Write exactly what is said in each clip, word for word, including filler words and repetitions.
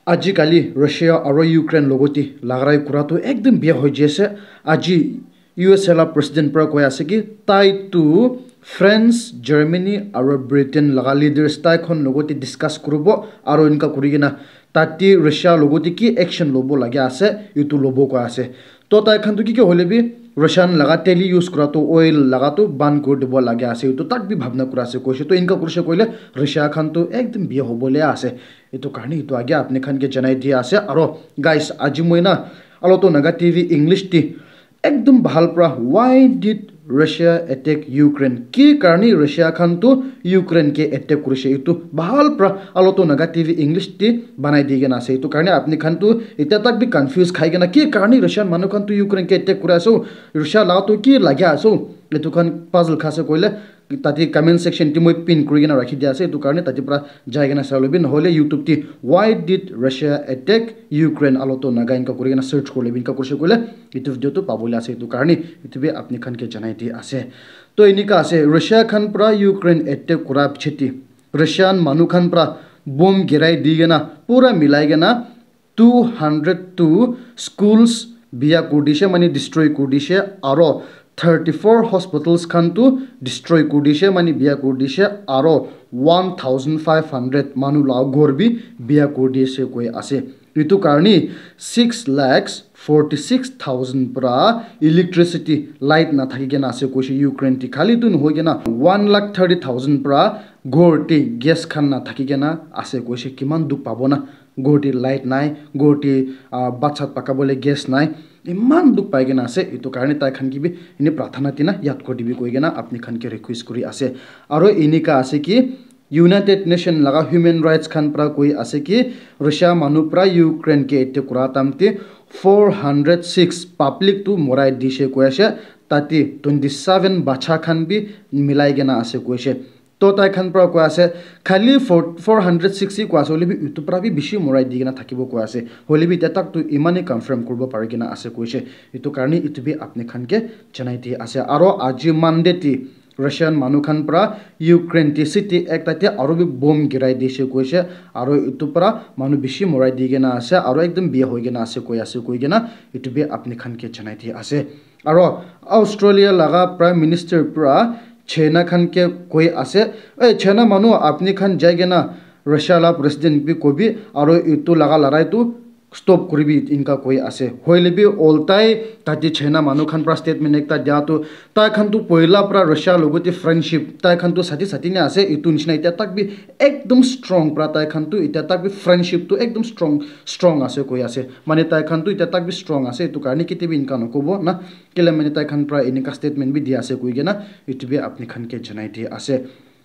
Ajikali Russia aro Ukraine logoti lagarai kura tu ekdum biya hoi jai ase. Aji U S A la president pra koi ase ki tai tu France, Germany aro Britain laga leaders tai khan logoti discuss kuribo aro enka kuri kena tate Russia logoti ki action lobo lage ase, etu lobo koi ase. To tai khan tu ki ki hoile bi Russian laga teli use kura tu oil laga tu ban kuri dibo lage ase, etu tak bi bhabna kura ase koise. To enka kurise koile Russia khan tu ekdum biya hobo le ase. Etu karne etu age apni khan ke janai dia ase. Aro guys, aji moi na Aloto Naga T V English ti ekdum bhal pra, why did Russia attack Ukraine? Ki karne Russia khan tu Ukraine ke attack kurise? Etu bhal pra Aloto Naga T V English ti banai di kena ase. Etu karne apni khan tu eta tak bi confuse khai kena ki karne Russian manu khan tu Ukraine ke attack kura ase? Russia la tu ki lage ase? Etu khan puzzle khase koile tate comment section ti moi pin kuri kena rakhi dia ase, etu karne tate pra jai kena sai lobi, nohole YouTube ti why did Russia attack Ukraine Aloto Naga enka kuri kena search kuri lobi, enka kurise koile etu video tu pabole ase, etu karne etu bi apni khan ke janai di ase. To enika ase, Russia khan pra Ukraine attack kura pichete Russian manu khan pra bomb girai di kena pura milai kena two hundred two schools biya kuri dishe, mane destroy kuri dishe, aro thirty four hospitals khan tu destroy kuri dishe, mane biya kuri dishe, aro one thousand five hundred manu la ghor bi biya kuri dishe koi ase. Etu karne six lakhs forty six thousand pra electricity, light na thaki kena ase koise Ukraine ti. Khali tu nohoi kena one lakh thirty thousand pra ghor ti gas khan na thaki kena ase koise. Kiman dukh pabo na, ghor ti light nai, ghor ti, ah, bhat sat pakabole gas nai, iman dukh pai kena ase. Etu karne tai khan ke bi ene prathana tina yad kuri dibi koi kena apni khan ke request kuri ase. Aro enika ase ki United Nation laga human rights khan pra koi ase ki Russia manu pra Ukraine ke attack kura time te four hundred six public tu morai dishe koi ase, tate twenty seven bacha khan bi milai kena ase koise. To tai khan pra koi ase, khali four, four hundred six hi koi ase, hoile bi etu pra bi bishi morai di kena thakibo koi ase. Hoile bi eta tak tu imane confirm kuribo pari kena ase koise. Etu karne etu bi apni khan ke janai di ase. Aro aji Monday ti Russian manu khan pra Ukraine ti city ekta te aro bi bomb girai dishe koise. Aro etu pra manu bishi morai di kena ase, aro ekdum biya hoi kena ase koi ase koi kena etu bi apni khan ke janai di ase. Aro Australia laga Prime Minister pra China khan ke koi ase, "Eh, China manu, apni khan jai kena Russia la president bi kobi, aro etu laga larai tu stop kuribi," enka koi ase. Hoile bi oltai tate China manu khan pra statement ekta dia tu, tai khan tu poila pra Russia logoti friendship, tai khan tu sati sati ne ase, etu nishina eta tak bi ekdum strong pra tai khan tu eta tak bi friendship tu ekdum strong, strong ase koi ase. Mane tai khan tu eta tak bi strong ase, etu karne kete bi enka nokobo na. Kile mane tai khan pra enika statement bi di ase koi kena, etu bi apni khan ke janai di ase.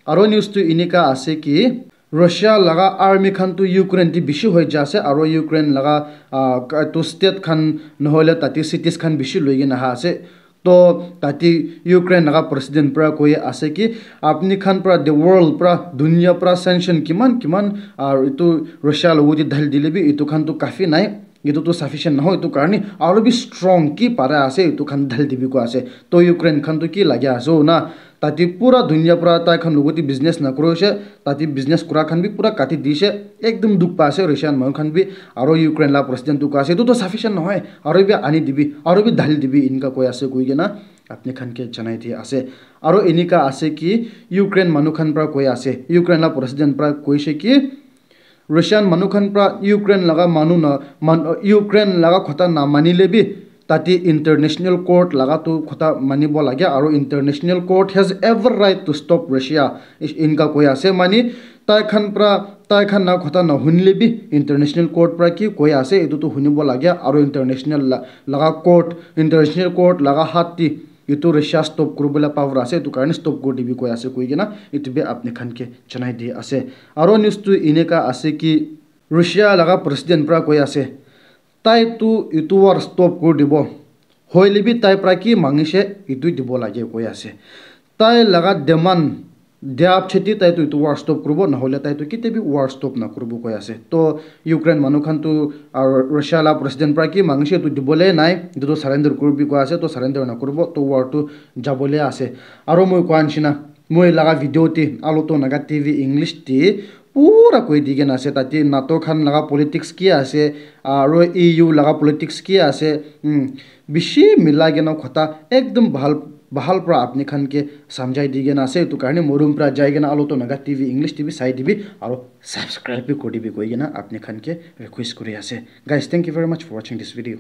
Aro news tu enika ase ki, Russia laga army khan tu Ukraine ti bishi hoi ja ase, aro Ukraine laga, ah, ka-, tu state khan nohole tate cities khan bishi loi kena aha ase. To tate Ukraine laga president pra koi ase ki, apni khan pra the world pra, dunia pra sanction kiman kiman, ah, etu Russia logoti dhali dile bi etu khan tu kafi nai. Etu tu sufficient nahoi, etu karne aro bi strong ki para ase, etu khan dhali dibi koi ase. To Ukraine khan tu ki lage ase na, tate pura dunia pra tai khan logoti business nakuri ase, tate business kura khan bi pura kati dishe, ekdum dukh pa ase Russian manu khan bi. Aro Ukraine la president tu koi ase, etu tu sufficient nahoi, aro bi ani dibi, aro bi dhali dibi, enka koi ase koi kena apni khan ke janai di ase. Aro enika ase ki Ukraine manu khan pra koi ase, Ukraine la president pra koise ki, Russian manu khan pra Ukraine laga manu na man, Ukraine laga khota na manile bi tate international court laga tu khota manibo lage, aro international court has every right to stop Russia. Is-, inka koi ase mani tai khan pra, tai khan na khota na hunile bi international court pra ki koi ase etu tu hunibo lage, aro international la-, laga court, international court laga hat ti etu Russia stop kuribole power ase, etu karne stop kuri dibi koi ase koi kena etu bi apni khan ke janai di ase. Aro news tu eneka ase ki Russia laga president pra koi ase, tai tu etu war stop kuri dibo, hoile bi tai pra ki mangishe etu dibo lage koi ase. Tai laga demand dia pichete tai tu etu war stop kuribo, nahole tai tu ketia bi war stop nakuribo koi ase. To Ukraine manu khan tu, ah, Russia la president pra ki mangishe etu dibole nai, etu tu surrender kuribi koi ase, to surrender nakuribo, to war tu jabole ase. Aro moi koa nishina, moi laga video te, Aloto Naga T V English te, pura koi di kena ase, tate NATO khan laga politics ki ase, aro E U laga politics ki ase, hmm, bishi milai kena khota ekdum bahal, bahal pra apni khan ke samjhai di kena ase. Etu karne morom pra jai kena Aloto Naga T V English T V sai dibi, aro subscribe bi kuri dibi koi kena apni khan ke request kuri ase. Guys, thank you very much for watching this video.